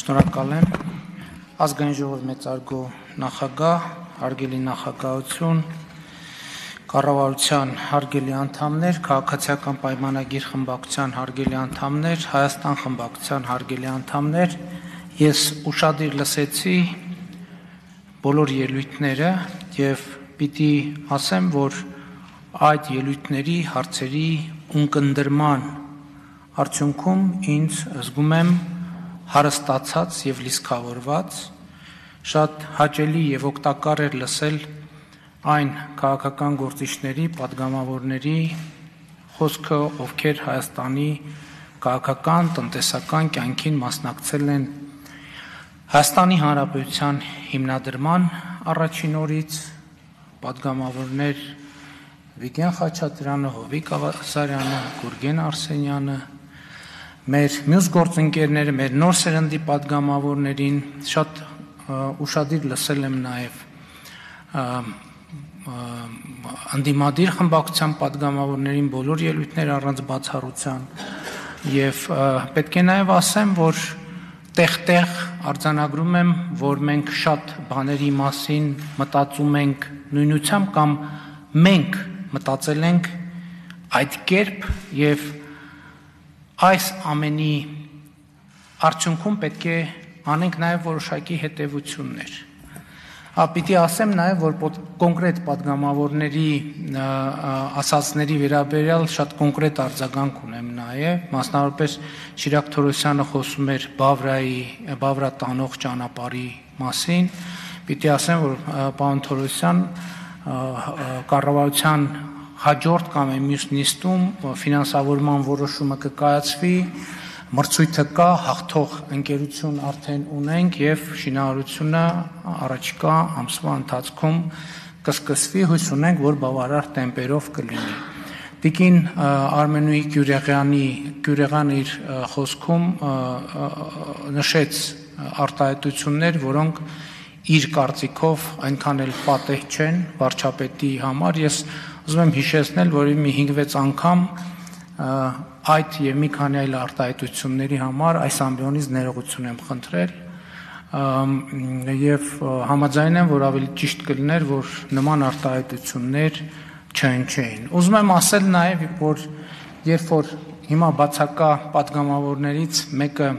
Շնորհակալ եմ ազգային ժողովի մեծարգո նախագահ, հարգելի նախագահություն, կառավարության հարգելի անդամներ, քաղաքացիական պայմանագիր խմբակցության հարգելի անդամներ, Հայաստան խմբակցության հարգելի անդամներ, ես ուշադիր լսեցի բոլոր ելույթները եւ պիտի ասեմ, որ այդ ելույթների հարցերի ունկնդրման արդյունքում ինձ զգում եմ հարստացած եւ լիցքավորված, շատ հաճելի եւ օգտակար էր լսել այն քաղաքական գործիչների, падգամավորների խոսքը, ովքեր Հայաստանի քաղաքական, տնտեսական կյանքին մասնակցել են Հայաստանի Հանրապետության հիմնադրման առաջին օրից, падգամավորներ Վիգեն Խաչատրյանը, Հովիկ Աղասարյանը, Գուրգեն Արսենյանը, մեր մյուս գործընկերները, մեր նոր սերնդի падգամավորներին շատ ուշադիր լսել եմ նաև անդիմադիր խմբակցության падգամավորներին բոլոր ելույթները առանց բացառության եւ պետք է նաև ասեմ, որ տեղ-տեղ արձանագրում եմ, որ մենք շատ բաների մասին մտածում ենք նույնությամբ կամ մենք մտածել ենք այդ կերպ եւ այս ամենի արդյունքում պետք է անենք նաև որոշակի հետևություններ։ Պիտի ասեմ նաև, որ կոնկրետ падգամավորների ասածների վերաբերյալ շատ կոնկրետ արձագանք ունեմ նաև, մասնավորապես Շիրակ Թորոսյանը խոսում էր Բավրա տանող ճանապարհի մասին, պիտի ասեմ, որ պարոն Թորոսյան կառավարության հաջորդ կամ մյուս նիստում ֆինանսավորման որոշումը կկայացվի, մրցույթը կա, հաղթող ընկերություն արդեն ունենք եւ շինարարությունը առաջիկա ամսվա ընթացքում կսկսվի, հույս ունենք, որ բավարար տեմպերով կլինի։ Տիկին Արմենուհի Գյուրեղյանը իր խոսքում նշեց արտահայտություններ, որոնք իր կարծիքով այնքան էլ պատեհ չեն վարչապետի համար։ Ես ուզում եմ հիշեցնել, որ մի 5-6 անգամ այդ եւ մի քանի այլ արտահայտությունների համար այս ամբիոնից ներողություն եմ խնդրել եւ համաձայն եմ, որ ավելի ճիշտ կլիներ, որ նման արտահայտություններ չհնչեին։ Ուզում եմ ասել նաեւ, որ երբ որ հիմա բացակա падգամավորներից մեկը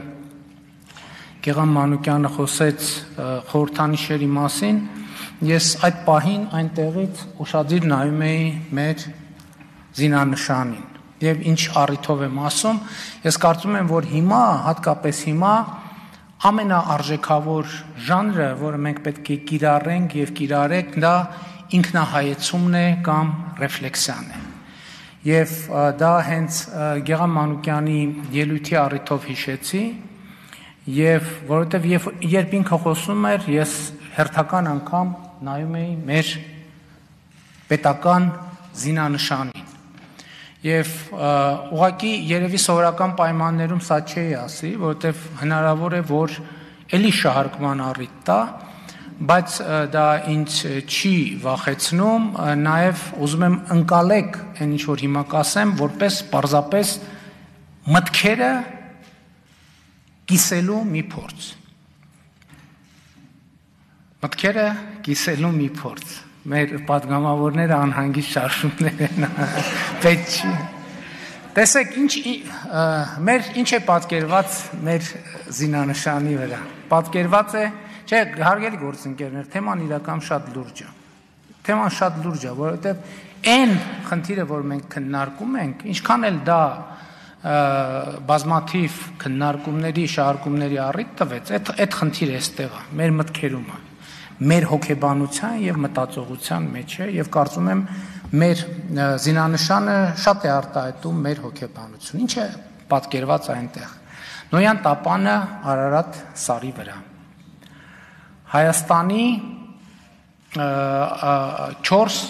Գեգամ Մանուկյանը խոսեց խորհրդանիշերի մասին, ես այդ պահին այնտեղից ուշադիր նայում էի մեր զինանշանին եւ ինչ առիթով եմ ասում, ես կարծում եմ, որ հիմա, հատկապես հիմա ամենաարժեքավոր ժանրը, որը մենք պետք է կիրառենք եւ կիրառենք, դա ինքնահայեցումն է կամ ռեֆլեքսիան է։ Եվ դա հենց Գեգամ Մանուկյանի ելույթի առիթով հիշեցի, եւ որովհետեւ երբ ինքը խոսում էր, ես հերթական անգամ նայում էի մեր պետական զինանշանին։ Եվ ուղղակի երևի սովորական պայմաններում սա չի ասի, որովհետեւ հնարավոր է, որ էլի շահարկման առիթ տա, բայց դա ինձ չի վախեցնում, նաեւ ուզում եմ ընկալեք այն ինչ որ հիմա կասեմ, որպես պարզապես մտքերը կիսելու մի փորձ։ Մտքերը կիսելու մի փորձ։ Մեր падգամավորները անհանգիստ շարժումներ են, պետք չի։ Տեսեք, ինչ է պատկերված մեր զինանշանի վրա։ Պատկերված է, չէ, հարգելի գործընկերներ, թեման իրական շատ լուրջ է։ Թեման շատ լուրջ է, որովհետև այն խնդիրը, որ մենք քննարկում ենք, ինչքան էլ դա բազմաթիվ քննարկումների, շահարկումների առիթ տվեց, այդ խնդիրը էստեղ է, մեր մտքերում է, մեր հոգեբանության եւ մտածողության մեջ է եւ կարծում եմ մեր զինանշանը շատ է արտահայտում մեր հոգեբանությունը։ Ինչ է պատկերված այնտեղ։ Նոյան տապանը Արարատ սարի վրա։ Հայաստանի 4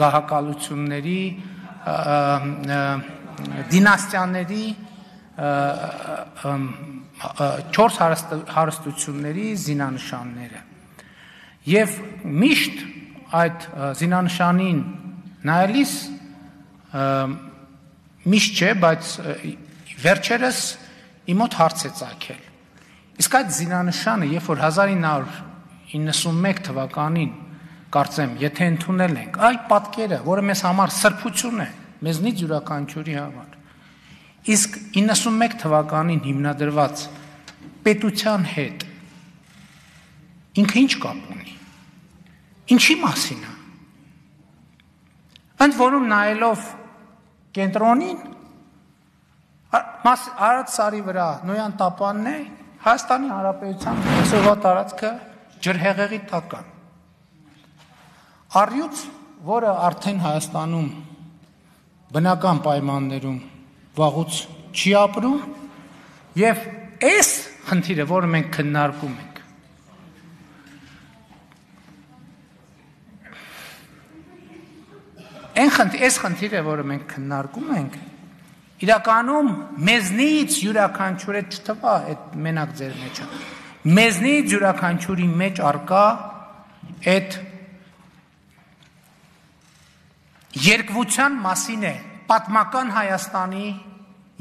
գահակալությունների դինաստիաների 4 հարստությունների զինանշանները եւ միշտ այդ զինանշանին նայելիս միշտ չէ, բայց վերջերս իմ մոտ հարց է ծագել։ Իսկ այդ զինանշանը, երբ որ 1991 թվականին կարծեմ, եթե ընդունել ենք, այդ պատկերը, որը մեզ համար սրբություն է, մեզնից յուրաքանչյուրի համար, իսկ 91 թվականին հիմնադրված պետության հետ ինքը ինչ կապ ունի, ինչի մասին է, ընդ որում նայելով կենտրոնին, Արադ սարի վրա Նոյան տապանն է, Հայաստանի Հանրապետության այսօրվա տարածքը ջրհեղեղի տակ է։ Առյուծ, որը արդեն Հայաստանում բնական պայմաններում վաղուց չի ապրում, եւ այս խնդիրը, որը մենք քննարկում ենք, այս խնդիրը, որը մենք քննարկում ենք, իրականում մեզնից յուրաքանչյուրը չթվա այդ մենակ ձեր մեջը, մեզնից յուրաքանչյուրի մեջ արկա այդ երկվության մասին է պատմական Հայաստանի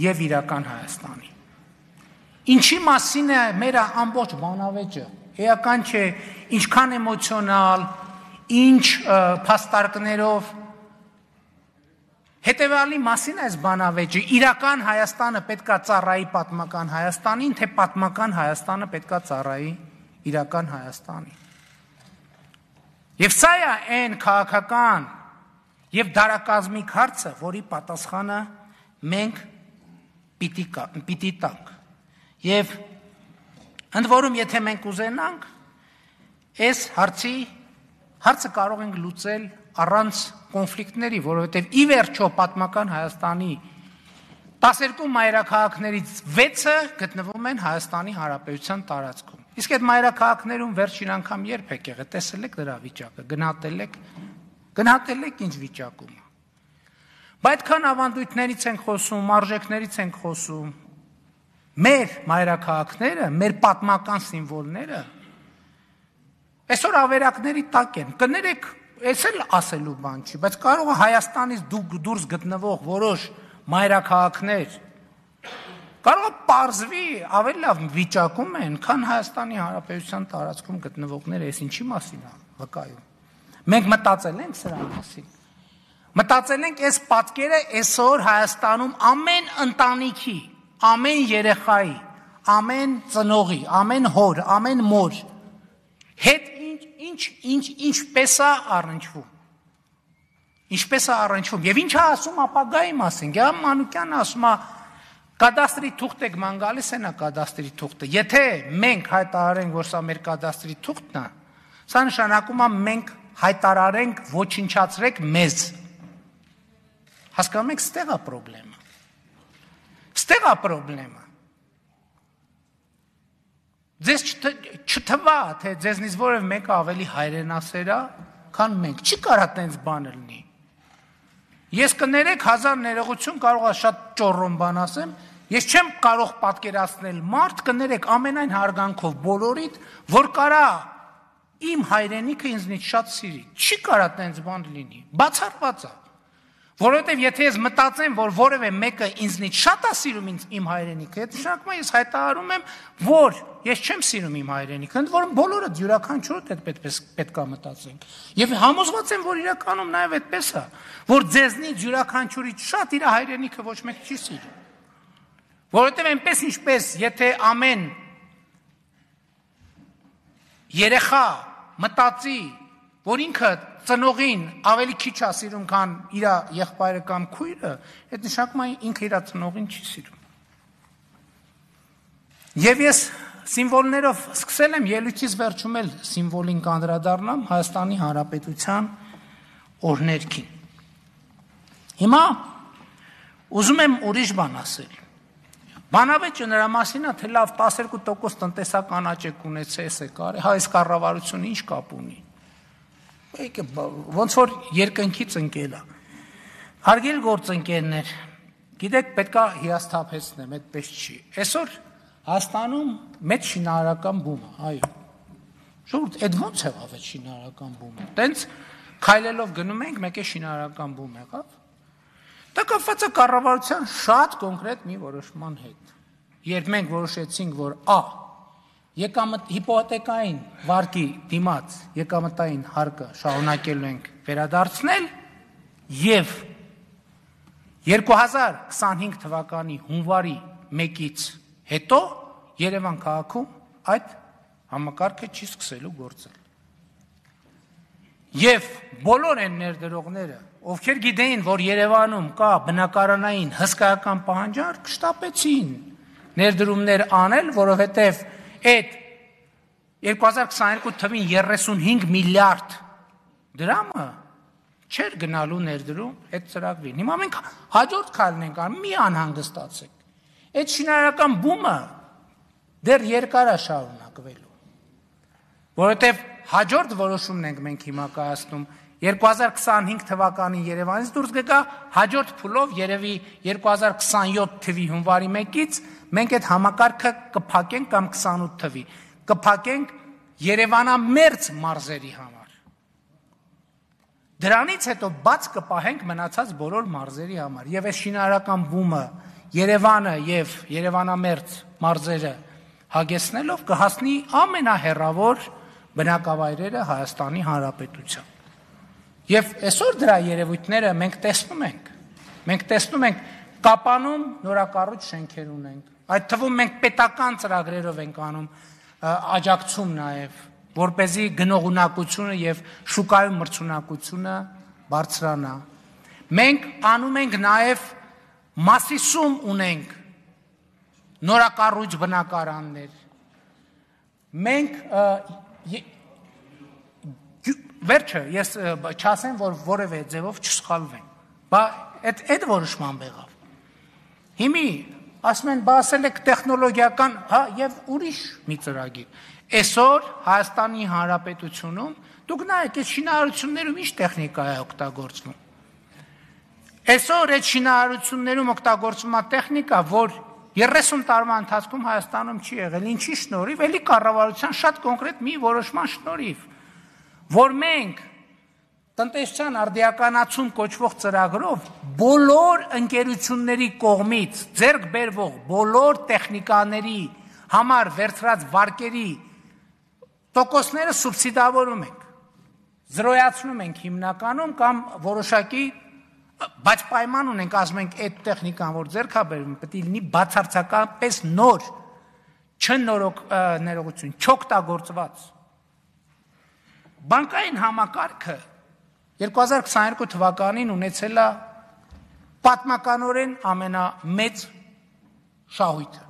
եւ իրական Հայաստանի։ Ինչի մասին է մեր ամբողջ բանավեճը, էական չէ, ինչքան էմոցիոնալ, ինչ փաստարկներով, հետևյալի մասին այս բանավեճը, իրական Հայաստանը պետքա ծառայի պատմական Հայաստանին, թե պատմական Հայաստանը պետքա ծառայի իրական Հայաստանին։ Եվ սա է այն քաղաքական եւ դարակազմիկ հարցը, որի պատասխանը մենք պիտի տանք։ Եվ ընդ որում, եթե մենք ուզենանք, այս հարցը կարող ենք լուծել առանց կոնֆլիկտների, որովհետև ի վերջո պատմական Հայաստանի 12 մայրաքաղաքներից 6-ը գտնվում են Հայաստանի Հանրապետության տարածքում։ Իսկ այդ մայրաքաղաքներում վերջին անգամ երբ եք եղել, տեսել եք դրա վիճակը, գնահատել եք ինչ վիճակում է։ Բայց այդքան ավանդույթներից ենք խոսում, արժեքներից ենք խոսում, մեր մայրաքաղաքները, մեր պատմական սիմվոլները այսօր ավերակների տակ են, կներեք, այս էլ ասելու բան չի, բայց կարող է Հայաստանից դուրս գտնվող որոշ մայրաքաղաքներ կարող է պարզվի ավելի լավ վիճակում են, քան Հայաստանի Հանրապետության տարածքում գտնվողները, այս ինչի մասին է վկայում։ Մենք մտածել ենք սրա մասին։ Մտածել ենք այս պատկերը այսօր Հայաստանում ամեն ընտանիքի, ամեն երեխայի, ամեն ծնողի, ամեն հոր, ամեն մոր հետ ինչպես է առնչվում։ Ինչպես է առնչվում։ Եվ ինչ է ասում ապագայի մասին։ Գեամ Մանուկյանը ասում է կադաստրի թուղթ եք ման գալիս են է կադաստրի թուղթը։ Եթե մենք հայտարարենք, որ սա մեր կադաստրի թուղթն է, սա նշանակում է մենք հայտարարենք ոչնչացրեք մեզ։ Հասկանում եք, ստեղ է պրոբլեմը։ Ստեղ է պրոբլեմը։ Ձեզ չթվա, թե ձեզնից որև մեկը ավելի հայրենասեր է, քան մենք։ Չի կարա տենց բան լինի։ Ես կներեք 1000 ներողություն կարող է շատ ճոռոն բան ասեմ, ես չեմ կարող պատկերացնել մարդ, կներեք ամենայն հարգանքով բոլորիդ, որ կարա իմ հայրենիքը ինձնից շատ սիրի։ Չի կարա տենց բան լինի։ Բացառված է։ Որովհետև եթե ես մտածեմ, որ որևէ մեկը ինձնից շատ է սիրում իմ հայրենիքը, այդ նշանակում է ես հայտարարում եմ, որ ես չեմ սիրում իմ հայրենիքը, ընդ որում բոլորը յուրաքանչյուրը պետք է մտածենք։ Եվ համոզված եմ, որ իրականում նաև այդպես է, որ ձեզնից յուրաքանչյուրից շատ իր հայրենիքը ոչ մեկ չի սիրում։ Որովհետև այնպես ինչպես եթե ամեն երեխա մտածի, որ ինքը ծնողին ավելի քիչ է սիրում, քան իր եղբայրը կամ քույրը, այդ նշանակում է ինքը իր ծնողին չի սիրում։ Եվ ես սիմվոլներով սկսել եմ ելույթից վերջում էլ սիմվոլին կանդրադառնամ Հայաստանի Հանրապետության օրհներգին։ Հիմա ուզում եմ ուրիշ բան ասել։ Բանավեճը նրա մասին է, թե լավ 12% տնտեսական աճ ունեցես է կարի, հա այս կառավարությունը ինչ կապ ունի։ Ոնց որ երկնքից ընկել է։ Հարգելի գործընկերներ, գիտեք, պետքա հիասթափեցնեմ, այդպես չի։ Այսօր Հայաստանում մեծ շինարարական բում է, այո։ Ժողովուրդ, այդ ո՞նց եղավ այդ շինարարական բումը։ Տենց քայլելով գնում ենք, մեկ է շինարարական բում եղավ։ Դա կապված է կառավարության շատ կոնկրետ մի որոշման հետ։ երբ մենք որոշեցինք, որ հիպոթեկային վարկի դիմաց եկամտային հարկը շարունակելու ենք վերադարձնել եւ 2025 թվականի հունվարի 1-ից հետո Երևան քաղաքում այդ համակարգը չի սկսելու գործել։ Եվ բոլոր այն ներդրողները, ովքեր գիտեին, որ Երևանում կա բնակարանային հսկայական պահանջարկ, շտապեցին ներդրումներ անել, որովհետև այդ 2022 թվին 35 միլիարդ դրամը չէր գնալու ներդրում այդ ծրագրին։ Հիմա մենք հաջորդ քայլն ենք անում, մի անհանգստացեք։ Այդ շինարարական բումը դեռ երկար է շարունակվելու, որովհետև հաջորդ որոշումն ենք մենք հիմա կայացնում 2025 թվականին Երևանից դուրս գա, հաջորդ փուլով երևի 2027 թվի հունվարի 1-ից մենք այդ համակարգը կփակենք կամ 28 թվի կփակենք Երևանամերձ մարզերի համար։ Դրանից հետո բաց կպահենք մնացած բոլոր մարզերի համար եւ այս շինարարական բումը Երևանը եւ Երևանամերձ մարզերը հագեցնելով կհասնի ամենահեռավոր բնակավայրերը Հայաստանի Հանրապետության։ Եվ այսօր դրա երևույթները մենք տեսնում ենք Կապանում նորակառույց շենքեր ունենք, այդ թվում մենք պետական ծրագրերով ենք անում աջակցում նաև, որպեսզի գնողունակությունը եւ շուկայում մրցունակությունը բարձրանա։ Մենք անում ենք նաև Մասիսում ունենք նորակառույց բնակարաններ։ Մենք վերջը ես չասեմ, որ որևէ ձևով չսխալվեն, բայց այդ որոշման եղավ։ Հիմի ասում են, ասել եք տեխնոլոգիական, եւ ուրիշ մի ծրագիր։ Այսօր Հայաստանի Հանրապետությունում դուք նայեք, այդ շինարարություններում ինչ տեխնիկա է օգտագործվում։ Այսօր այդ շինարարություններում օգտագործվում է տեխնիկա, որ 30 տարվա ընթացքում Հայաստանում չի եղել, ինչի շնորհիվ, էլի կառավարության շատ կոնկրետ մի որոշման շնորհիվ, որ մենք տնտեսության արդիականացում կոչվող ծրագրով բոլոր ընկերությունների կողմից ձեռք բերվող բոլոր տեխնիկաների համար վերցրած վարկերի տոկոսները սուբսիդավորում ենք, զրոյացնում ենք հիմնականում կամ որոշակի, բայց պայման ունենք, ասում ենք, այդ տեխնիկան, որ ձեռք է բերվում, պետք է լինի բացարձակապես նոր, չներողություն, չօգտագործված։ Բանկային համակարգը 2022 թվականին ունեցել է պատմականորեն ամենամեծ շահույթը։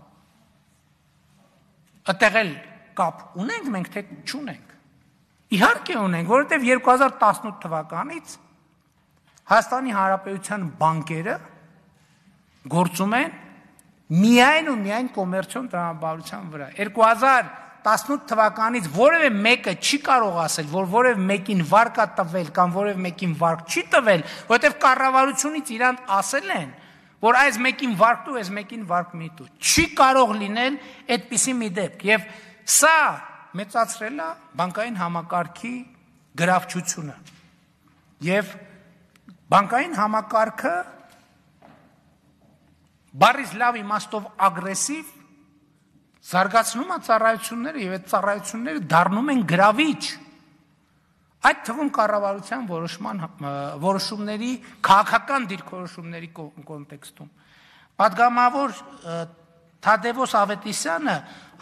Այդտեղ էլ կապ ունենք մենք, թե չունենք։ Իհարկե ունենք, որովհետև 2018 թվականից Հայաստանի Հանրապետության բանկերը գործում են միայն ու միայն կոմերցիոն տրամաբանության վրա։ 2018 թվականից որևէ մեկը չի կարող ասել, որ որևէ մեկին վարկ է տվել կամ որևէ մեկին վարկ չի տվել, որովհետև կառավարությունից իրանք ասել են, որ այս մեկին վարկ տու, այս մեկին վարկ մի տու։ Չի կարող լինել այդպիսի մի դեպք։ Եվ սա մեծացրել է բանկային համակարգի գրավչությունը։ Եվ բանկային համակարգը բառից լավ իմաստով ագրեսիվ զարգացնում է ծառայությունները եւ այդ ծառայությունները դառնում են գրավիչ։ Այդ թվում կառավարության որոշումների քաղաքական դիրքորոշումների կոնտեքստում։ Պատգամավոր Թադևոս Ավետիսյանը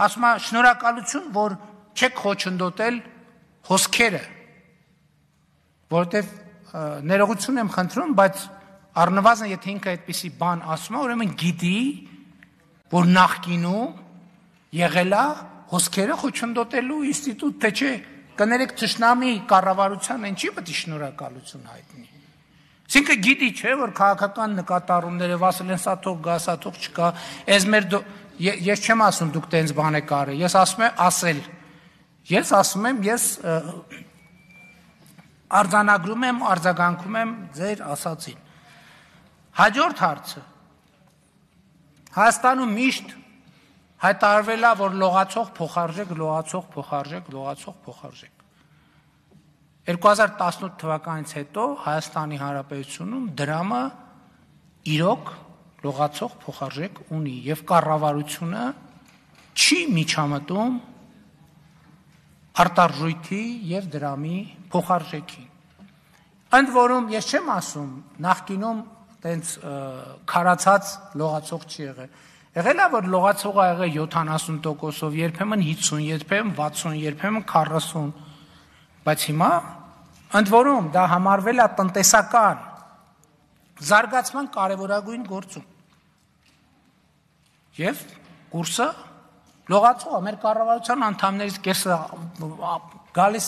ասում է շնորհակալություն, որ չեք խոչընդոտել հոսքերը, որովհետեւ ներողություն եմ խնդրում, բայց առնվազն եթե ինքը այդպիսի բան ասում է, ուրեմն գիտի, որ նախկինում եղել է հոսքերը խոչընդոտելու ինստիտուտ, թե չէ, կներեք թշնամի կառավարության են չի պետք է շնորհակալություն հայտնի։ Այսինքն գիտի չէ, որ քաղաքական նկատառումները ասել են սա թող գա, սա թող չկա, ես չեմ ասում դուք տենց բան եք արել, ես ասում եմ ասել։ Ես ասում եմ, ես արձանագրում եմ, արձագանքում եմ ձեր ասածին։ Հաջորդ հարցը։ Հայաստանում միշտ հայտարարվել է, որ լողացող փոխարժեք, լողացող փոխարժեք, լողացող փոխարժեք։ 2018 թվականից հետո Հայաստանի Հանրապետությունում դրամը իրոք լողացող փոխարժեք ունի եւ կառավարությունը չի միջամտում արտարժույթի եւ դրամի փոխարժեքին։ Ընդ որում ես չեմ ասում նախկինում տենց քարացած լողացող չի եղել։ Եղել է որ լողացողը եղել 70%-ով, երբեմն 50, երբեմն 60, երբեմն 40, բայց հիմա ընդ որում դա համարվել է տնտեսական զարգացման կարևորագույն գործում։ Եվ կուրսը լողացողը մեր կառավարության անդամներից կեսը գալիս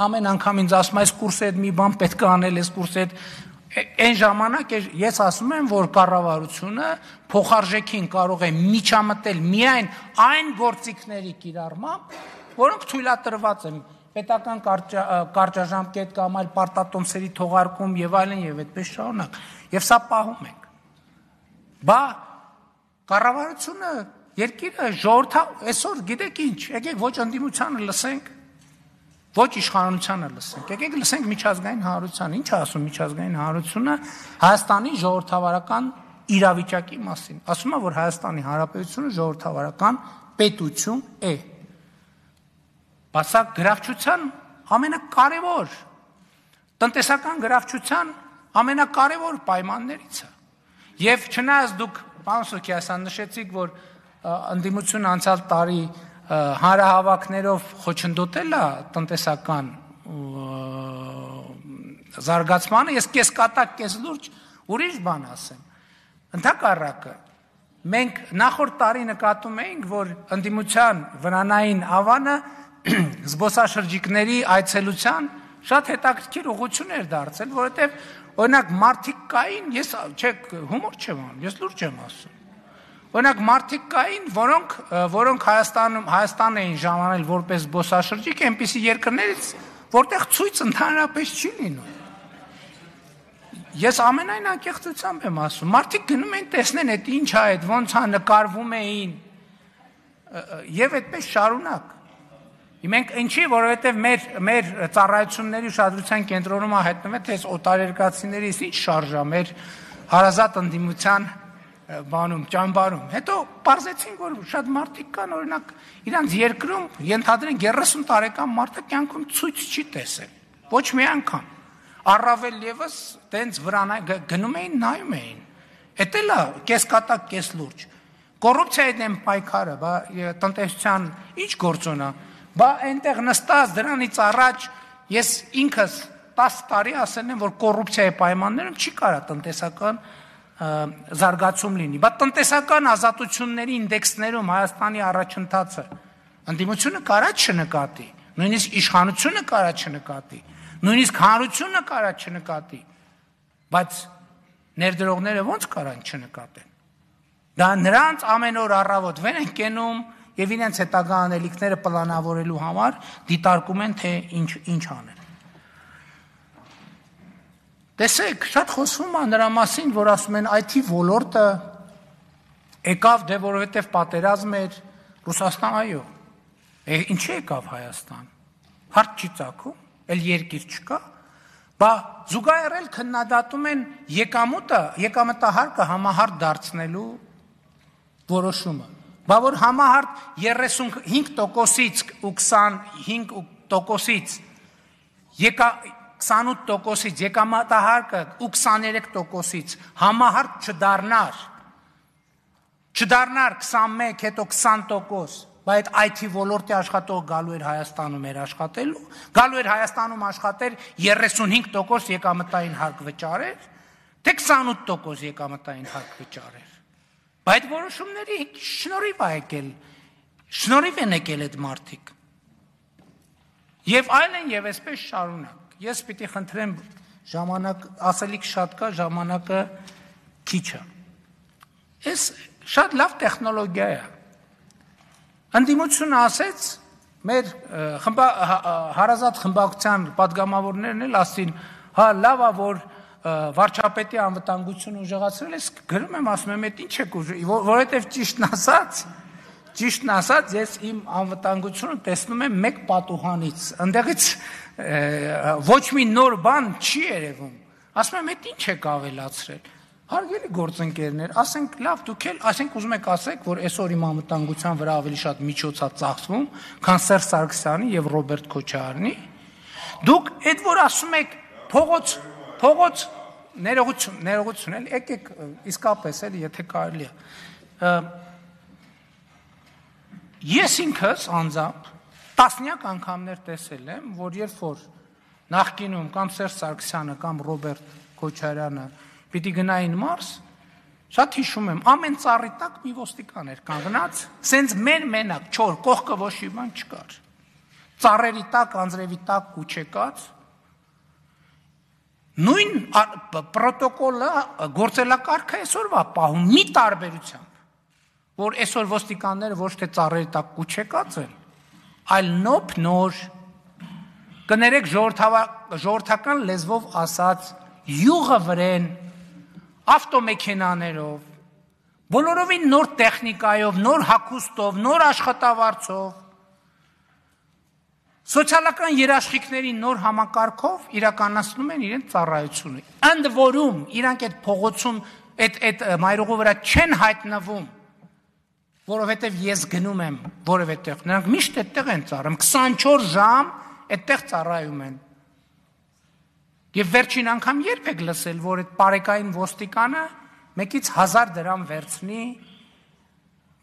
ամեն անգամ ինձ ասում այս կուրսը այդ մի բան պետք է անել, այս կուրսը այն ժամանակ ես ասում եմ, որ կառավարությունը փոխարժեքին կարող է միջամտել միայն այն գործիքների կիրառմամբ, որոնք թույլատրված են պետական կարճաժամկետ կամ այլ պարտատոմսերի թողարկում եւ այլն եւ այդպես շարունակ։ Եվ սա պահում ենք։ Բա կառավարությունը երկիրը ժողովրդը այսօր գիտեք ինչ, եկեք ոչ ընդդիմությանը լսենք, ոչ իշխանությանը լսենք, եկեք լսենք միջազգային հանրությանը, ինչ է ասում միջազգային հանրությունը Հայաստանի ժողովրդավարական իրավիճակի մասին։ Ասում է, որ Հայաստանի Հանրապետությունը ժողովրդավարական պետություն է։ Բացակ գրավչության ամենակարևոր տնտեսական գրավչության ամենակարևոր պայմաններից է։ Եվ չնայած դուք պարոն Սուքիասյան նշեցիք, որ ընդդիմությունը անցյալ տարի հանրահավաքներով խոչընդոտել է տնտեսական զարգացմանը, ես կես կատակ, կես լուրջ ուրիշ բան ասեմ։ Ընդհակառակը մենք նախորդ տարի նկատում էինք, որ ընդդիմության վրանային ավանը զբոսաշրջիկների այցելության շատ հետաքրքիր ուղղություն էր դարձել, որովհետև օրինակ մարդիկ կային, ես հումոր չեմ անում, ես լուրջ եմ ասում։ Օրինակ մարդիկ կային, որոնք Հայաստան էին ժամանել որպես զբոսաշրջիկ, այնպիսի երկրներից, որտեղ ցույց ընդհանրապես չի լինում։ Ես ամենայն անկեղծությամբ եմ ասում, մարդիկ գնում են տեսնեն, այդ ինչ է, այդ ոնց է, նկարվում էին եւ այդպես շարունակ։ Մենք ինչի, որովհետեւ մեր ծառայությունների ուշադրության կենտրոնում է հայտնվել, թե այս օտարերկրացիների ինչ շարժա մեր հարազատ ընդդիմության բանում, ճամբարում։ Հետո պարզեցին, որ շատ մարդիկ կան, օրինակ, իրանց երկրում ենթադրենք 30 տարեկան մարդը կյանքում ցույց չի տեսել։ Ոչ մի անգամ։ Առավել եւս տենց վրան գնում էին, նայում էին։ Էդ էլ է կես կատակ, կես լուրջ։ Կոռուպցիայի դեմ պայքարը, բա տնտեսության ինչ գործոն է։ Բա այնտեղ նստած դրանից առաջ ես ինքս 10 տարի ասել եմ, որ կոռուպցիայի պայմաններում չի կարա տնտեսական զարգացում լինի։ Բա տնտեսական ազատությունների ինդեքսներում Հայաստանի առաջընթացը ընդդիմությունը կարա չնկատի, նույնիսկ իշխանությունը կարա չնկատի, նույնիսկ հանրությունը կարա չնկատի, բայց ներդրողները ոնց կարան չնկատեն։ Դա նրանց ամեն օր առավոտ վեր են կենում եւ իրենց հետագա անելիքները պլանավորելու համար դիտարկում են, թե ինչ անել։ Տեսեք, շատ խոսվում է նրա մասին, որ ասում են IT ոլորտը եկավ, դե որովհետև պատերազմ էր, Ռուսաստան, այո։ Ինչի եկավ Հայաստան։ Հարց չի ծագում, էլ երկիր չկա, բա զուգահեռ քննադատում են եկամտահարկը համահարթ դարձնելու որոշումը։ Բա որ համահարթ 35%-ից ու 25%-ից 28%-ից եկամտահարկը ու 23%-ից համահարթ չդառնար 21, հետո 20%, բա այդ IT ոլորտի աշխատող գալու էր Հայաստանում էր աշխատելու, գալու էր Հայաստանում աշխատեր 35% եկամտային հարկ վճարեր, թե 28% եկամտային հարկ վճարեր։ Բա այդ որոշումների շնորհիվ է եկել, շնորհիվ են եկել այդ մարդիկ։ Եվ այլն եւ այսպես շարունակ։ Ես պիտի խնդրեմ ժամանակ, ասելիք շատ կա, ժամանակը քիչ է։ Այս շատ լավ տեխնոլոգիա է։ Ընդդիմությունը ասեց, մեր հարազատ խմբակցության падգամավորներն էլ ասին, հա լավ է, որ վարչապետի անվտանգությունը ուժեղացրել է, գրում եմ, ասում եմ, այդ ինչ եք ուժ, որովհետև ճիշտն ասած, ես իմ անվտանգությունը տեսնում եմ մեկ պատուհանից, ընդեղից ոչ մի նոր բան չի երևում, ասում եմ, այդ ինչ եք ավելացրել, Հարգելի գործընկերներ, ասենք լավ դուք էլ, ասենք ուզում եք ասեք, որ այսօր իմ անվտանգության վրա ավելի շատ միջոց է ծախսվում, քան Սերժ Սարգսյանի եւ Ռոբերտ Քոչարյանի։ Դուք այդ որ ասում եք փողոց ներողություն էլ եկեք իսկապես էլ եթե կարելի է։ Ես ինքս անձամբ տասնյակ անգամներ տեսել եմ, որ երբ որ նախկինում կամ Սերժ Սարգսյանը կամ Ռոբերտ Քոչարյանը պիտի գնային Մարս, շատ հիշում եմ, ամեն ծառի տակ մի ոստիկան էր կանգնած, սենց մենակ, չոր, կողքը ոչ մի բան չկար։ Ծառերի տակ, անձրևի տակ ու չեկած, նույն պրոտոկոլը գործելակարգը այսօրվա պահում մի տարբերությամբ, որ այսօր ոստիկանները ոչ թե ծառերի տակ ու չեկած են, այլ նոր, կներեք ժողովրդական լեզվով ասած, յուղը վրեն, ավտոմեքենաներով, բոլորովին նոր տեխնիկայով, նոր հագուստով, նոր աշխատավարձով, սոցիալական երաշխիքների նոր համակարգով իրականացնում են իրենց ծառայությունը։ Ընդ որում իրանք այդ փողոցում, այդ մայրուղու վրա չեն հայտնվում, որովհետև ես գնում եմ որևէ տեղ, նրանք միշտ այդտեղ են ծառայում, 24 ժամ այդտեղ ծառայում են։ Եվ վերջին անգամ երբ եք լսել, որ այդ պարեկային ոստիկանը մեկից 1000 դրամ վերցնի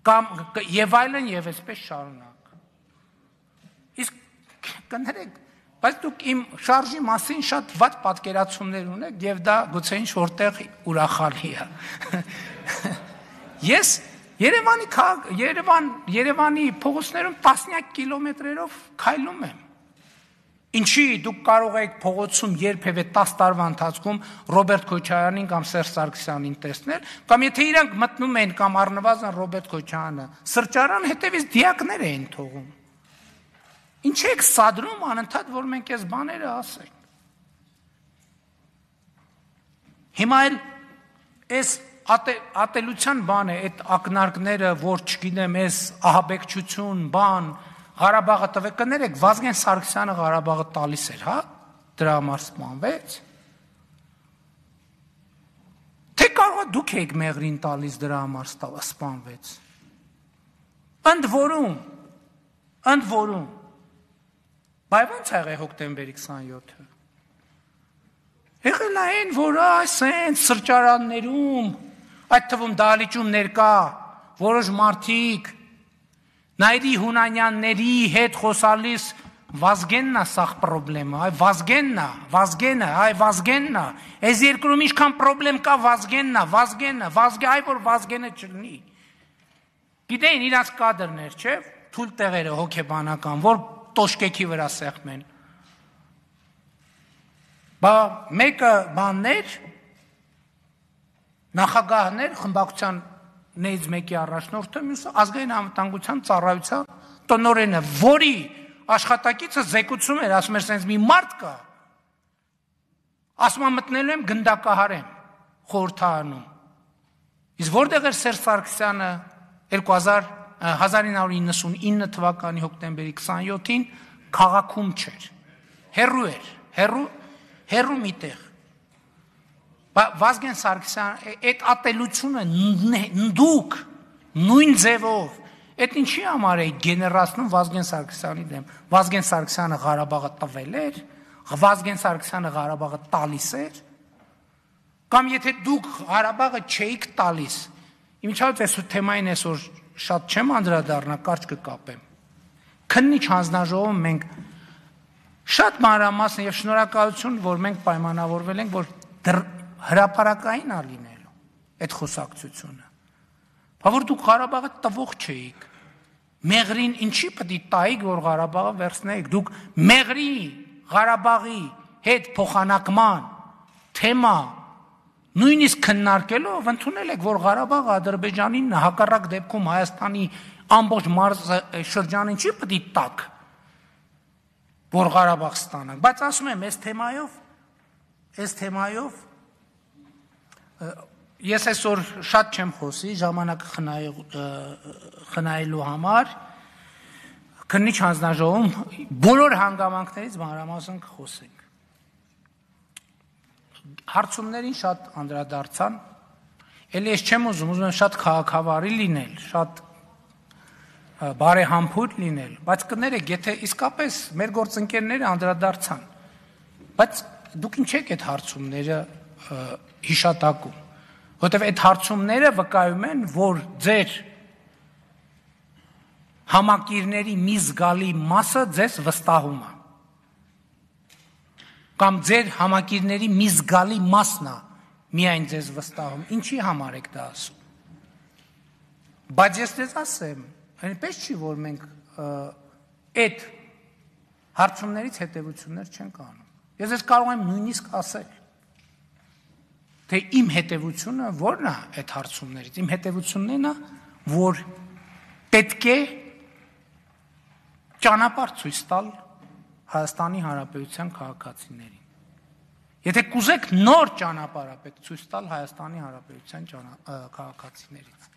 կամ եւ այլն եւ այսպես շարունակ։ Իսկ կներեք, բայց դուք իմ շարժի մասին շատ վատ պատկերացումներ ունեք եւ դա գուցե ինչ որտեղ ուրախալի է։ Ես Երևանի փողոցներում տասնյակ կիլոմետրերով քայլում եմ։ Ինչի դուք կարող եք փողոցում երբևէ 10 տարվա ընթացքում Ռոբերտ Քոչարյանին կամ Սերժ Սարգսյանին տեսնել, կամ եթե իրանք մտնում են կամ առնվազն Ռոբերտ Քոչարյանը սրճարան հետևից դիակներ էին թողում։ Ինչ եք սադրում անընդհատ, որ մենք այս բաները ասենք։ Հիմա էլ այս ատելության բան է, այդ ակնարկները, որ չգիտեմ, այս ահաբեկչություն, բան, Ղարաբաղը տվեք, կներեք, Վազգեն Սարգսյանը Ղարաբաղը տալիս էր, հա, դրա համար սպանվեց։ Թե կարող դուք եք Մեղրին տալիս դրա համար սպանվեց։ Ընդ որում, բայ ոնց եղել հոկտեմբերի 27-ը։ Եղել այն, որ այսեն սրճարաններում, այդ թվում դահլիճում ներկա, որոշ մարդիկ, Նայրի Հունանյանների հետ խոսալիս Վազգեննա սաղ պրոբլեմը, այ Վազգեննա, այս երկրում ինչքան պրոբլեմ կա Վազգեննա, այ որ Վազգենը չլնի։ Գիտեին իրանց կադրներ, չէ, թույլ տեղերը հոգեբանական, որ տոշկեքի վրա սեղմեն։ Բա մեկը բաններ, նախագահներ, խմբակցության նեյց մեկի առաջնորդը, մյուսը ազգային անվտանգության ծառայության տնօրենը, որի աշխատակիցը զեկուցում էր, ասում էր, սենց մի մարդ կա, ասում մտնելու եմ գնդակահարեմ խորհրդարանում։ Իսկ որտեղ էր Սերժ Սարգսյանը 1999 թվականի հոկտեմբերի 27-ին քաղաքում չէր, հեռու էր, հեռու միտեղ։ Վազգեն Սարգսյան, այդ ատելությունը դուք նույն ձևով, այդ ինչի համար է գեներացնում Վազգեն Սարգսյանի դեմ։ Վազգեն Սարգսյանը Ղարաբաղը տվել էր, Վազգեն Սարգսյանը Ղարաբաղը տալիս էր, կամ եթե դուք Ղարաբաղը չէիք տալիս, իմիջիայլոց այս թեմային այսօր շատ չեմ անդրադառնա, կարճ կկապեմ։ Քննիչ հանձնաժողովում մենք շատ մանրամասն եւ շնորհակալություն, որ մենք պայմանավորվել ենք, որ հրապարակային ալինելու այդ խոսակցությունը, որ դուք Ղարաբաղը տվող չէիք, Մեղրին ինչի պտի տայիք, որ Ղարաբաղը վերցնեիք, դուք Մեղրի, Ղարաբաղի հետ փոխանակման թեմա նույնիսկ քննարկելով ընդունել եք, որ Ղարաբաղը Ադրբեջանին հակառակ դեպքում Հայաստանի ամբողջ շրջանին չի պտի տակ, որ Ղարաբաղ ստանանք, բայց ասում եմ, այս թեմայով ես այսօր շատ չեմ խոսի, ժամանակը խնայելու համար, քննիչ հանձնաժողովում բոլոր հանգամանքներից մանրամասն կխոսենք։ Հարցումներին շատ անդրադարձան, Էլի ես չեմ ուզում եմ շատ քաղաքավարի լինել, շատ բարեհամբույր լինել, բայց կներեք, եթե իսկապես մեր գործընկերները անդրադարձան, բայց դուք ինչ եք այդ հարցումները հիշատակում, որտեղ այդ հարցումները վկայում են, որ ձեր համակիրների մի զգալի մասը ձեզ վստահում է, կամ ձեր համակիրների մի զգալի մասն է միայն ձեզ վստահում, ինչի համար եք դա ասում, բայց ես ձեզ ասեմ, այնպես չի, որ մենք այդ հարցումներից հետևություններ չենք անում, ես ես կարող եմ նույնիսկ ասել, թե իմ հետևությունը որն է այդ հարցումներից, իմ հետևությունն է, որ պետք է ճանապարհ ցույց տալ Հայաստանի Հանրապետության քաղաքացիներին։ Եթե կուզեք նոր ճանապարհ պետք ցույց տալ Հայաստանի Հանրապետության քաղաքացիներից։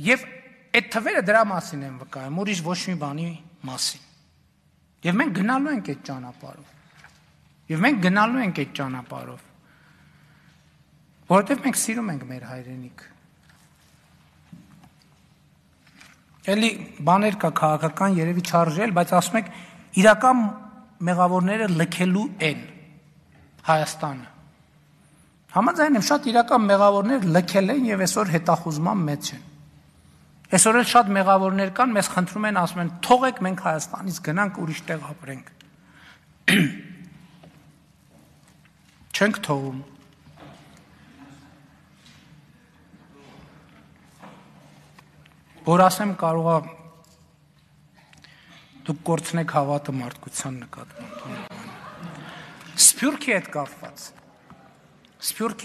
Եվ այդ թվերը դրա մասին են վկայում, ուրիշ ոչ մի բանի մասին։ Եվ մենք գնալու ենք այդ ճանապարհով։ Եվ մենք գնալու ենք այդ ճանապարհով, որովհետև մենք սիրում ենք մեր հայրենիք։ Էլի բաներ կա քաղաքական երևի չարժել, բայց ասում եք իրական մեղավորները լքելու են Հայաստանը։ Համաձայն եմ, շատ իրական մեղավորներ լքել են եւ այսօր հետախուզման մեջ են։ Այսօր էլ շատ մեղավորներ կան, մեզ խնդրում են, ասում են, թողեք մենք Հայաստանից գնանք ուրիշ տեղ ապրենք։ Չենք թողում։ Որ ասեմ կարողա դուք կորցնեք հավատը մարդկության նկատմամբ։ Սփյուռքի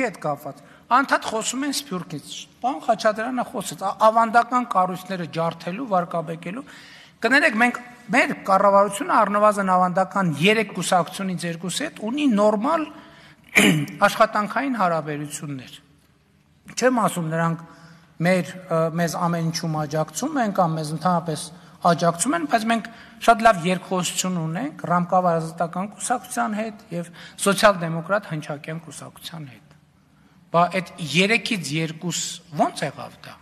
հետ կապված։ Անդադ խոսում են Սփյուռքից։ Պարոն Խաչատրյանը խոսեց ավանդական կառույցները ջարդելու, վարկաբեկելու։ Կներեք, մենք մեր կառավարությունը առնվազն ավանդական 3 կուսակցությունից 2-ի հետ ունի նորմալ աշխատանքային հարաբերություններ։ Չեմ ասում նրանք մեզ ամեն ինչում աջակցում են կամ մեզ ընդհանրապես աջակցում են, բայց մենք շատ լավ երկխոսություն ունենք Ռամկավ ազատական կուսակցության հետ եւ սոցիալ-դեմոկրատ հնչակյան կուսակցության հետ։ Բա այդ 3-ից 2 ո՞նց եղավ դա։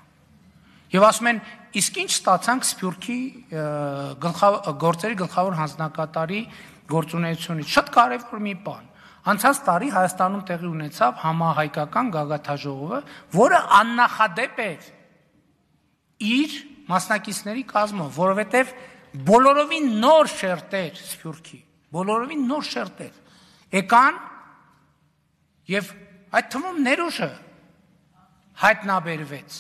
Եվ ասում են, իսկ ինչ ստացանք Սփյուռքի գործերի գլխավոր հանձնակատարի գործունեությունից։ Շատ կարևոր մի բան։ Անցած տարի Հայաստանում տեղի ունեցավ համահայկական գագաթաժողովը, որը աննախադեպ էր իր մասնակիցների կազմով, որովհետև բոլորովին նոր շերտեր Սփյուռքի, բոլորովին նոր շերտեր եկան եւ այդ թվում ներուժը հայտնաբերվեց։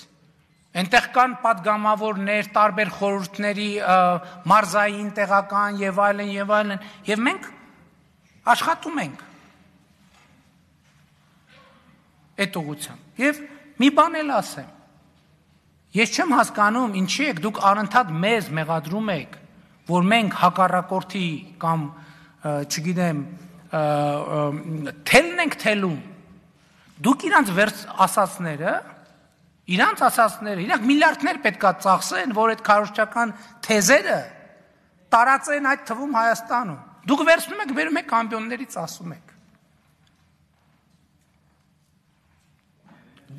Այնտեղ կան պատգամավորներ, տարբեր խորհուրդների մարզային, տեղական եւ այլն, եւ մենք աշխատում ենք այդ ուղղությամբ։ Եվ մի բան էլ ասեմ, ես չեմ հասկանում, ինչի եք դուք անընդհատ մեզ մեղադրում եք, որ մենք հակառակորդի կամ, չգիտեմ, թելն ենք թելում, դուք իրանց ասածները, իրանք միլիարդներ պետքա ծախսեն, որ այդ քարոզչական թեզերը տարածեն այդ թվում Հայաստանում։ Դուք վերցնում եք, վերում եք ամբիոններից ասում եք։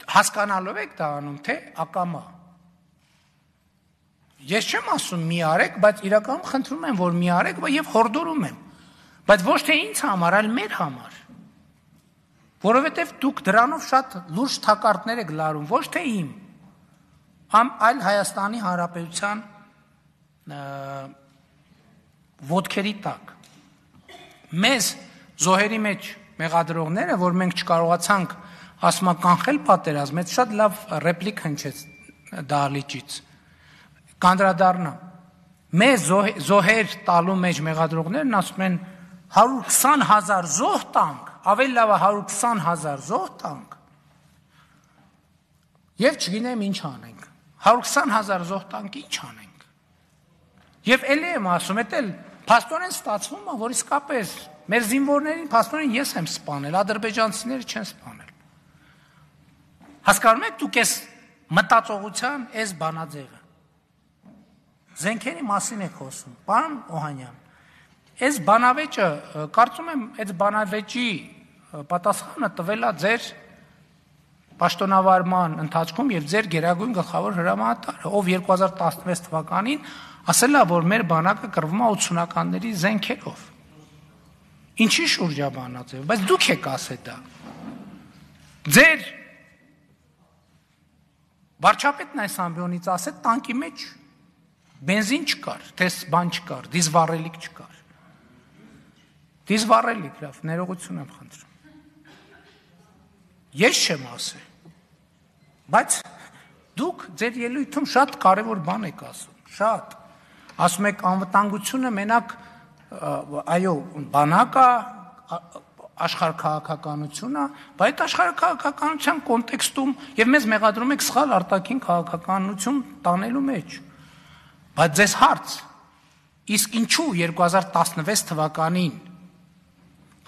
Հասկանալով եք դա անում, թե ակամա։ Ես չեմ ասում մի արեք, բայց իրականում խնդրում եմ, որ մի արեք եւ հորդորում եմ։ Բայց ոչ թե ինձ համար, այլ մեր համար։ Որովհետև դուք դրանով շատ լուրջ թակարդներ եք լարում, ոչ թե իմ, այլ Հայաստանի Հանրապետության ոտքերի տակ։ Մեզ զոհերի մեջ մեղադրողները, որ մենք չկարողացանք ասում կանխել պատերազմը, շատ լավ ռեպլիկ հնչեց դահլիճից։ Կանդրադառնամ։ Մեզ զոհեր տալու մեջ մեղադրողներն ասում են 120,000 զոհ տանք, ավելի լավ 120,000 զոհ տանք։ Եվ չգիտեմ ինչ անենք։ 120,000 զոհ տանք ինչ անենք։ Եվ էլի եմ ասում, էդ փաստորեն ստացվում է, որ իսկապես մեր զինվորներին փաստորեն ես եմ սպանել, ադրբեջանցիները չեն սպանել։ Հասկանում եք դուք այս մտածողության այս բանաձևը։ Զենքերի մասին եք խոսում, պարոն Օհանյան։ Այս բանավեճը, կարծում եմ, այս բանավեճի պատասխանը տվել է ձեր պաշտոնավարման ընթացքում եւ ձեր գերագույն գլխավոր հրամանատարը, ով 2016 թվականին ասել է, որ մեր բանակը կռվում է 80-ականների զենքերով։ Ինչի շուրջ է բանաձև, բայց դուք եք ասել դա։ Ձեր վարչապետն այս ամբիոնից ասել տանկի մեջ բենզին չկար, թես բան չկար, դիզվառելիք չկար։ Դիզվառելիք, լավ, ներողություն եմ խնդրում։ Ես չեմ ասել։ Բայց դուք ձեր ելույթում շատ կարևոր բան եք ասում, շատ։ Ասում եք անվտանգությունը մենակ այո, բանակը, աշխարհաքաղաքականությունը, բայց աշխարհաքաղաքականության կոնտեքստում եւ մեզ մեղադրում եք սխալ արտաքին քաղաքականություն տանելու մեջ։ Բայց ձեզ հարց, իսկ ինչու 2016 թվականին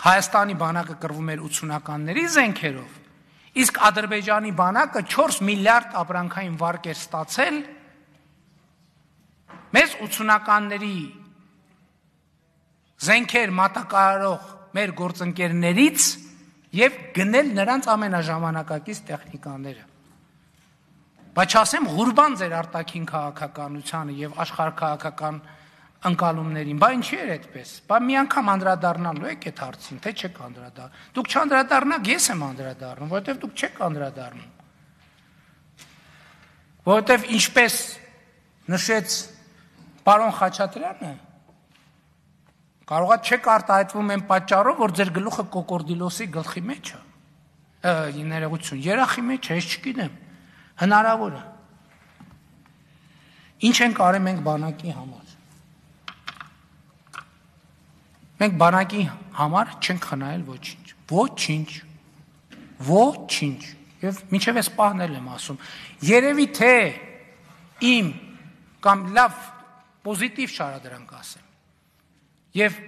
Հայաստանի բանակը կռվում էր 80-ականների զենքերով, իսկ Ադրբեջանի բանակը 4 միլիարդ ապրանքային վարկ էր ստացել մեզ 80-ականների զենքեր մատակարարող մեր գործընկերներից եւ գնել նրանց ամենաժամանակակից տեխնիկաները։ Բայց չասեմ ղուրբան ձեր արտաքին քաղաքականությանը եւ աշխարհաքաղաքական ընկալումներին, բա ինչի էր այդպես։ Բա մի անգամ անդրադառնալու եք այդ հարցին, թե չեք անդրադառնում։ Դուք չանդրադառնաք, ես եմ անդրադառնում, որովհետեւ դուք չեք անդրադառնում։ Որովհետեւ ինչպես նշեց պարոն Խաչատրյանը, կարողա չեք արտահայտվում այն պատճառով, որ ձեր գլուխը կոկորդիլոսի գլխի մեջ է։ Ներողություն, երախի մեջ է, ես չգիտեմ։ Հնարավոր է։ Ինչ ենք արել մենք բանակի համար։ Մենք բանակի համար չենք խնայել ոչինչ։ Ոչինչ։ Ոչինչ։ Եվ մինչև այս պահն եմ ասում, երևի թե իմ կամ լավ պոզիտիվ շարադրանք ասեմ։ Եվ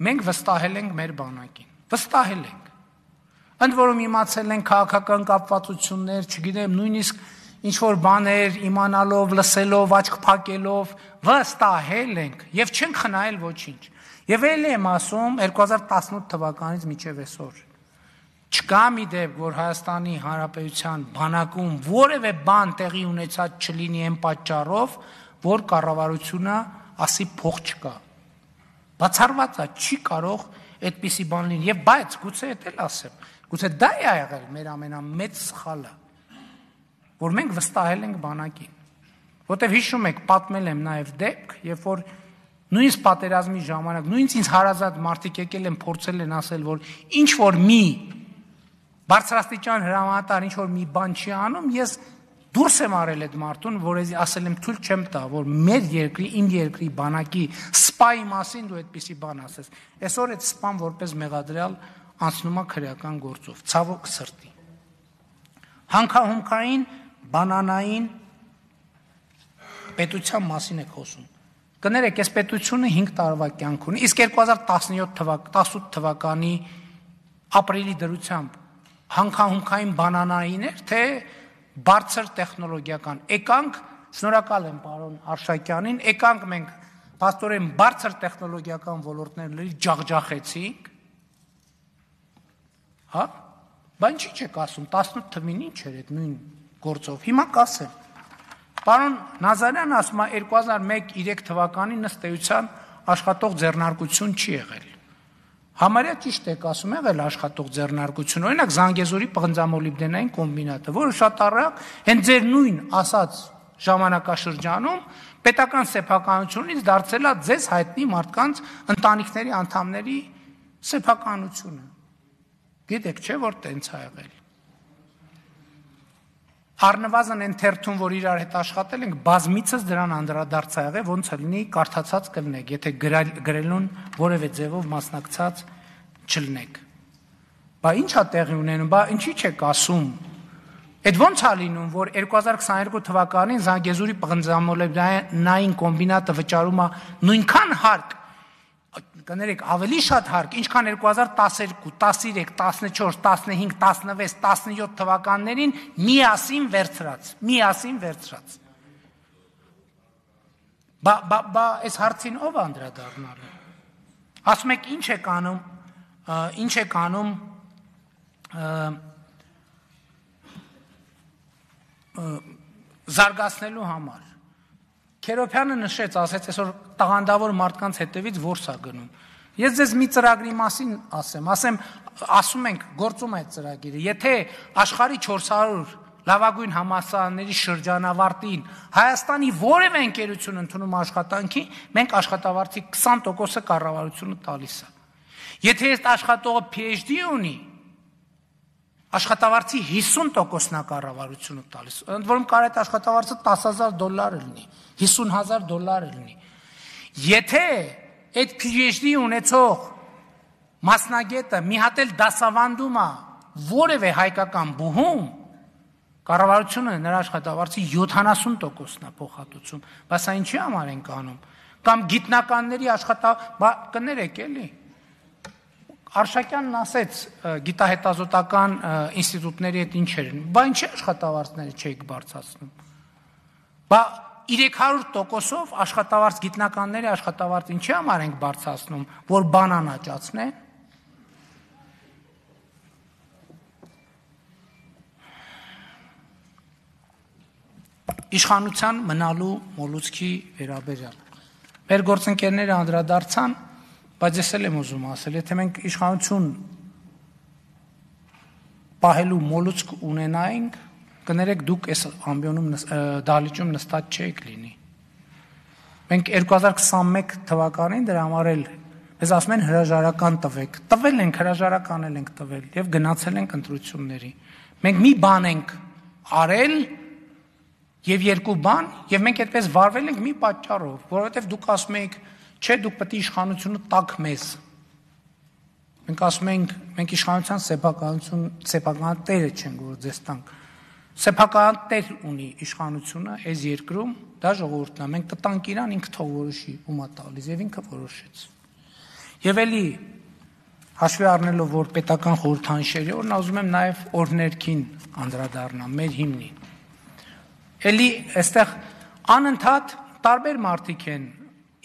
մենք վստահել ենք մեր բանակին։ Վստահել ենք։ Ընդ որում իմացել ենք քաղաքական կապվածություններ, չգիտեմ, նույնիսկ ինչ-որ բաներ իմանալով, լսելով, աչք փակելով, վստահել ենք եւ չենք խնայել ոչինչ։ Եվ ելի եմ ասում 2018 թվականից մինչև այսօր չկա մի դեպք, որ Հայաստանի Հանրապետության բանակում որևէ բան տեղի ունեցած չլինի այն պատճառով, որ կառավարությունը ասի փող չկա։ Բացառված է, չի կարող այդպիսի բան լինի։ Եվ բայց գուցե դա էլ ասեմ, գուցե դա է եղել մեր ամենամեծ սխալը, որ մենք վստահել ենք բանակին։ Որտեվ հիշում եք, պատմել եմ նաև դեպք, երբ որ նույնիսկ պատերազմի ժամանակ, նույնիսկ ինձ հարազատ մարդիկ եկել են փորձել են ասել, որ ինչ որ մի բարձրաստիճան հրամանատար ինչ որ մի բան չի անում, ես դուրս եմ արել այդ մարդուն, որ ասել եմ թույլ չեմ տա, որ մեր երկրի, իմ երկրի բանակի սպայի մասին դու այդպիսի բան ասես։ Այսօր այդ սպան որպես մեղադրյալ անցնում է քրեական գործով, ցավոք սրտի։ Հանքահումքային, բանանային պետության մասին եք խոսում։ Կներեք, այս պետությունը 5 տարվա կյանք ունի, իսկ 2018 թվականի ապրիլի դրությամբ հանքահումքային բանանային էր, թե բարձր տեխնոլոգիական։ Եկանք, շնորհակալ եմ պարոն Արշակյանին, եկանք մենք փաստորեն բարձր տեխնոլոգիական ոլորտների ջախջախեցինք։ Հա? Բան չի չեք ասում, 18 թվին ինչ էր այդ նույն գործով։ Հիմա կասեմ։ Պարոն Նազարյանը ասում է 2001-3 թվականին ըստ էության աշխատող ձեռնարկություն չի եղել։ Համարյա ճիշտ եք ասում, եղել աշխատող ձեռնարկություն, օրինակ Զանգեզուրի պղնձամոլիբդենային կոմբինատը, որը շատ առակ հենց ձեր նույն ասած ժամանակաշրջանում պետական սեփականությունից դարձել է ձեզ հայտնի մարդկանց ընտանիքների անդամների սեփականությունը։ Գիտեք, չէ՞ որ տենց է եղել։ Առնվազն այն թերթում, որ իրար հետ աշխատել ենք, բազմիցս դրան անդրադարձ է եղել, ոնց լինի կարդացած կլնեք, եթե գրելուն որևէ ձևով մասնակցած չլնեք։ Բա ի՞նչ է տեղի ունենում, բա ինչի՞ չեք ասում։ Այդ ոնց է լինում, որ 2022 թվականին Զանգեզուրի պղնձամոլիբդենային կոմբինատը վճարում է նույնքան հարկ, կներեք, ավելի շատ հարկ, ինչքան 2012, 13, 14, 15, 16, 17 թվականներին միասին վերցրած։ Բա այս հարցին ով անդրադառնալու։ Ասում եք ինչ եք անում զարգացնելու համար։ Քերոփյանը նշեց, ասեց այսօր տաղանդավոր մարդկանց հետևից որս է գնում։ Ես ձեզ մի ծրագրի մասին ասում ենք, գործում է այդ ծրագիրը։ Եթե աշխարհի 400 լավագույն համալսարանների շրջանավարտին Հայաստանի որևէ ընկերություն ընդունում աշխատանքի, մենք աշխատավարձի 20%-ը կառավարությունը տալիս է։ Եթե այս աշխատողը PhD ունի, աշխատավարձի 50%-ն է կառավարությունը տալիս։ Ընդ որում կարող է այդ աշխատավարձը $10,000 լինի, $50,000 լինի։ Եթե այդ PhD ունեցող մասնագետը մի հատ էլ դասավանդում է որևէ հայկական բուհում, կառավարությունը նրա աշխատավարձի 70%-ն է փոխհատուցում, բայց այն ինչի համար ենք անում։ Կամ գիտնականների կներեք էլի։ Արշակյանն ասեց գիտահետազոտական ինստիտուտների հետ ինչեր են, բա ինչի աշխատավարձները չեք բարձրացնում։ Բա 300%-ով աշխատավարձ գիտնականների աշխատավարձ ինչի համար ենք բարձրացնում, որ բանան աճացնեն։ Իշխանության մնալու մոլուցքի վերաբերյալ։ Մեր գործընկերները անդրադարձան, բայց ես էլ եմ ուզում ասել, եթե մենք իշխանություն պահելու մոլուցք ունենայինք, կներեք դուք այս ամբիոնում դահլիճում նստած չեք լինի։ Մենք 2021 թվականին դրա համար էլ մեզ ասում են հրաժարական տվեք, տվել ենք, հրաժարական ենք տվել եւ գնացել ենք ընտրությունների։ Մենք մի բան ենք արել եւ երկու բան եւ մենք այդպես վարվել ենք մի պատճառով, որովհետեւ դուք ասում եք, չէ, դուք պետք է իշխանությունը տաք մեզ։ Մենք ասում ենք, մենք իշխանության սեփական տերը չենք, որ ձեզ տանք։ Սեփական տեր ունի իշխանությունը այս երկրում, դա ժողովուրդն է, մենք կտանք իրան, ինքը թող որոշի, ումա տալիս եւ ինքը որոշեց։ Եվ էլի հաշվի առնելով, որ պետական խորհրդանիշերի օրն ուզում եմ նաեւ օրհներքին անդրադառնամ, մեր հիմնին։ Էլի այստեղ անընդհատ տարբեր մարդիկ են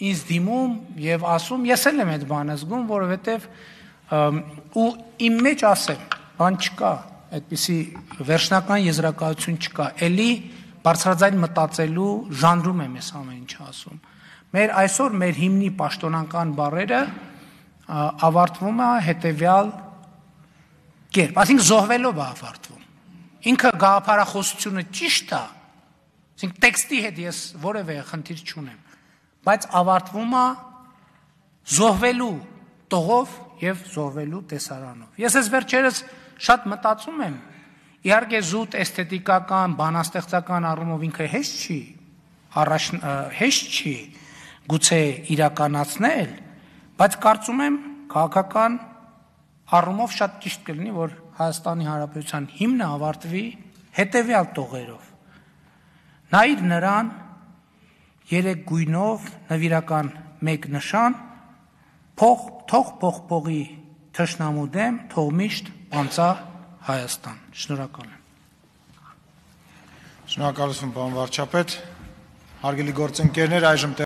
ինձ դիմում եւ ասում, ես էլ եմ այդ բանը զգում, որովհետեւ ու իմ մեջ ասեմ, բան չկա, այդպիսի վերջնական եզրակացություն չկա, էլի բարձրաձայն մտածելու ժանրում եմ ես ամեն ինչ ասում։ Այսօր մեր հիմնի պաշտոնական բառերը ավարտվում է հետեւյալ կերպ, այսինքն զոհվելով է ավարտվում։ Ինքը գաղափարախոսությունը ճիշտ է, այսինքն տեքստի հետ ես որևէ խնդիր չունեմ, բայց ավարտվում է զոհվելու տողով եւ զոհվելու տեսարանով։ Ես այս վերջերս շատ մտածում եմ, իհարկե զուտ էսթետիկական, բանաստեղծական առումով ինքը հեշտ չի գուցե իրականացնել, բայց կարծում եմ քաղաքական առումով շատ ճիշտ կլինի, որ Հայաստանի Հանրապետության հիմնը ավարտվի հետեւյալ տողերով. նայիր նրան 3 գույնով նվիրական 1 նշան, թող փողի թշնամու դեմ, թող միշտ պանծա Հայաստան։ Շնորհակալ եմ։ Շնորհակալություն, պարոն վարչապետ։ Հարգելի գործընկերներ, այժմ